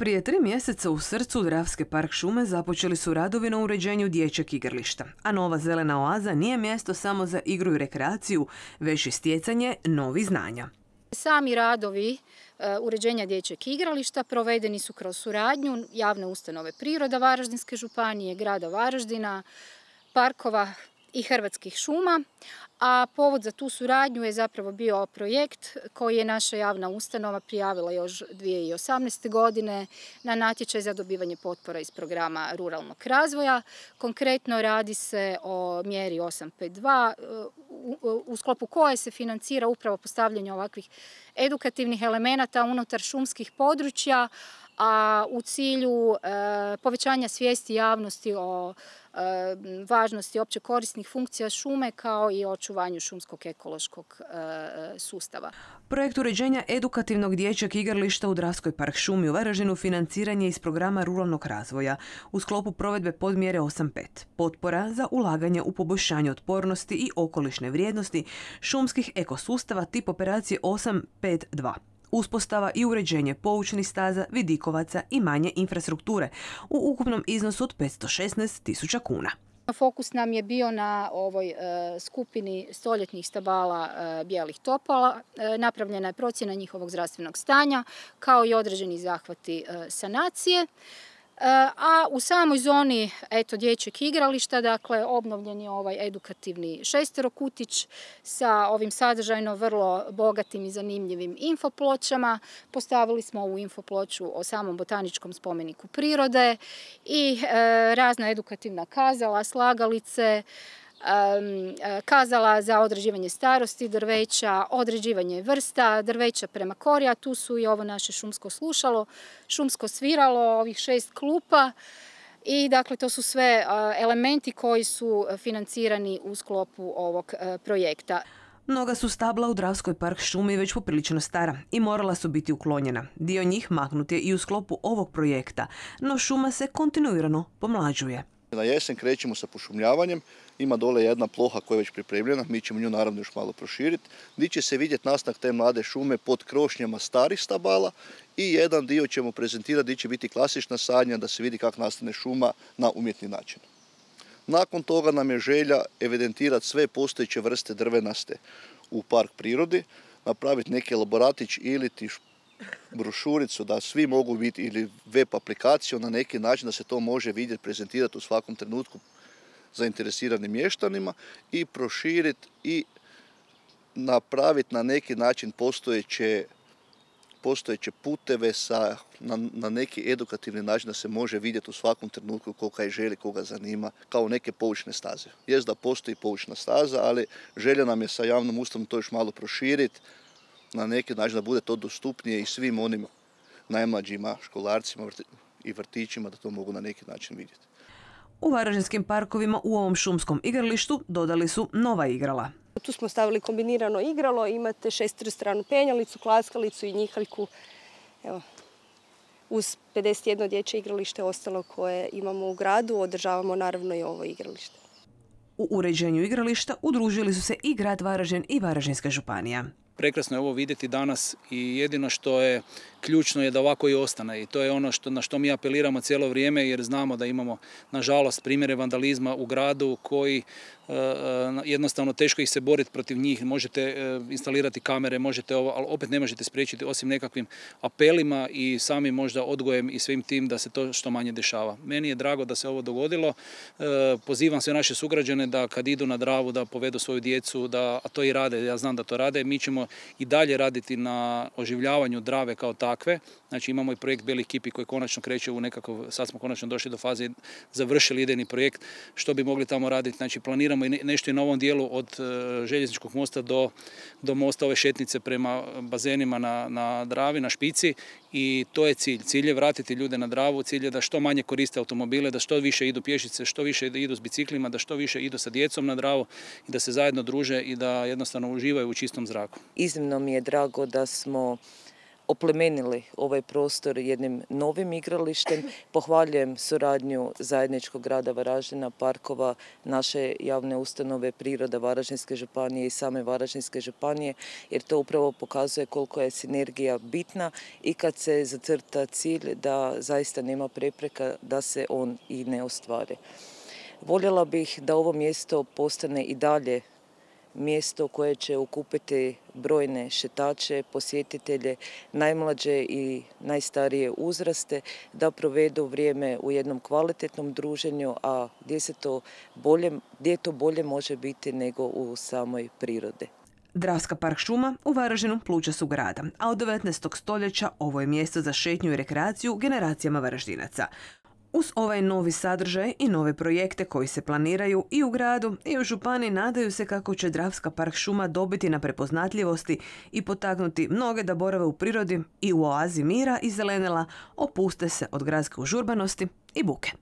Prije 3 mjeseca u srcu Dravske park šume započeli su radovi na uređenju dječjeg igrališta, a nova zelena oaza nije mjesto samo za igru i rekreaciju, već i stjecanje novih znanja. Sami radovi uređenja dječjeg igrališta provedeni su kroz suradnju javne ustanove Priroda Varaždinske županije, grada Varaždina, parkova i Hrvatskih šuma, a povod za tu suradnju je zapravo bio projekt koji je naša javna ustanova prijavila još 2018. godine na natječaj za dobivanje potpora iz programa ruralnog razvoja. Konkretno radi se o mjeri 852 u sklopu koje se financira upravo postavljanje ovakvih edukativnih elemenata unutar šumskih područja, a u cilju povećanja svijesti javnosti o važnosti opće korisnih funkcija šume kao i o očuvanju šumskog ekološkog sustava. Projekt uređenja edukativnog dječjeg igrališta u Dravskoj park šumi u Varaždinu financiranje iz programa ruralnog razvoja u sklopu provedbe podmjere 8.5. Potpora za ulaganje u poboljšanje otpornosti i okolišne vrijednosti šumskih ekosustava tip operacije 8.5.2. Uspostava i uređenje poučnih staza, vidikovaca i manje infrastrukture u ukupnom iznosu od 516.000 kuna. Fokus nam je bio na ovoj skupini stoljetnih stabala bijelih topola. Napravljena je procjena njihovog zdravstvenog stanja kao i određeni zahvati sanacije. A u samoj zoni dječjeg igrališta, dakle, obnovljen je ovaj edukativni šesterokutić sa ovim sadržajno vrlo bogatim i zanimljivim infopločama. Postavili smo ovu infoploču o samom botaničkom spomeniku prirode i razna edukativna kazala, slagalice, kazala za određivanje starosti drveća, određivanje vrsta drveća prema kori, a tu su i ovo naše šumsko slušalo, šumsko sviralo, ovih 6 klupa i dakle to su sve elementi koji su financirani u sklopu ovog projekta. Mnoga su stabla u Dravskoj park šumi već poprilično stara i morala su biti uklonjena. Dio njih maknut je i u sklopu ovog projekta, no šuma se kontinuirano pomlađuje. Na jesen krećemo sa pošumljavanjem, ima dole jedna ploha koja je već pripremljena, mi ćemo nju naravno još malo proširiti, gdje će se vidjeti nastanak te mlade šume pod krošnjama starih stabala i jedan dio ćemo prezentirati gdje će biti klasična sadnja da se vidi kako nastane šuma na umjetni način. Nakon toga nam je želja evidentirati sve postojeće vrste drvenaste u park prirodi, napraviti neki elaboratić ili brošuricu da svi mogu biti ili web aplikaciju na neki način da se to može vidjeti, prezentirati u svakom trenutku zainteresiranim mještanima i proširiti i napraviti na neki način postojeće puteve na neki edukativni način da se može vidjeti u svakom trenutku koga je želi, koga zanima, kao neke poučne staze. Jest da postoji poučna staza, ali želja nam je sa javnom ustanovom to još malo proširiti na neki način da bude to dostupnije i svim onim najmlađima, školarcima i vrtićima da to mogu na neki način vidjeti. U varaždinskim parkovima u ovom šumskom igralištu dodali su nova igrala. Tu smo stavili kombinirano igralo, imate šestostranu penjalicu, klaskalicu i njihaljku. Evo, uz 51 dječje igralište ostalo koje imamo u gradu, održavamo naravno i ovo igralište. U uređenju igrališta udružili su se i grad Varaždin i Varaždinska županija. Prekrasno je ovo vidjeti danas i jedino što je ključno je da ovako i ostane i to je ono na što mi apeliramo cijelo vrijeme jer znamo da imamo nažalost primjere vandalizma u gradu koji jednostavno teško ih se boriti protiv njih, možete instalirati kamere, možete ovo, ali opet ne možete spriječiti osim nekakvim apelima i samim možda odgojem i svim tim da se to što manje dešava. Meni je drago da se ovo dogodilo, pozivam sve naše sugrađane da kad idu na Dravu da povedu svoju djecu, a to i rade, ja znam da to rade, mi ćemo i dalje raditi na oživljavanju Drave kao takve. Znači imamo i projekt Belih kipi koji konačno kreće u nekakav, sad smo konačno došli do faze, završili idejni projekt, što bi mogli tamo raditi. Znači planiramo i nešto i na ovom dijelu od željezničkog mosta do mosta ove šetnice prema bazenima na Dravi, na Špici i to je cilj. Cilj je vratiti ljude na Dravu, cilj je da što manje koriste automobile, da što više idu pješice, što više idu s biciklima, da što više idu sa djecom na Dravu i da se zajedno druže i da jednostavno uživaju u čistom zraku. Iznimno mi je drago da smo oplemenili ovaj prostor jednim novim igralištem. Pohvaljujem suradnju zajedničkog grada Varaždina, parkova, naše javne ustanove, priroda Varaždinske županije i same Varaždinske županije, jer to upravo pokazuje koliko je sinergija bitna i kad se zacrta cilj da zaista nema prepreka da se on i ne ostvari. Voljela bih da ovo mjesto postane i dalje mjesto koje će okupiti brojne šetače, posjetitelje, najmlađe i najstarije uzraste, da provedu vrijeme u jednom kvalitetnom druženju, a gdje to bolje može biti nego u samoj prirodi. Dravska park šuma u Varaždinu pluća su grada, a od 19. stoljeća ovo je mjesto za šetnju i rekreaciju generacijama Varaždinaca. Uz ovaj novi sadržaj i nove projekte koji se planiraju i u gradu i u županiji, nadaju se kako će Dravska park šuma dobiti na prepoznatljivosti i potaknuti mnoge da borave u prirodi i u oazi mira i zelenila, opuste se od gradske užurbanosti i buke.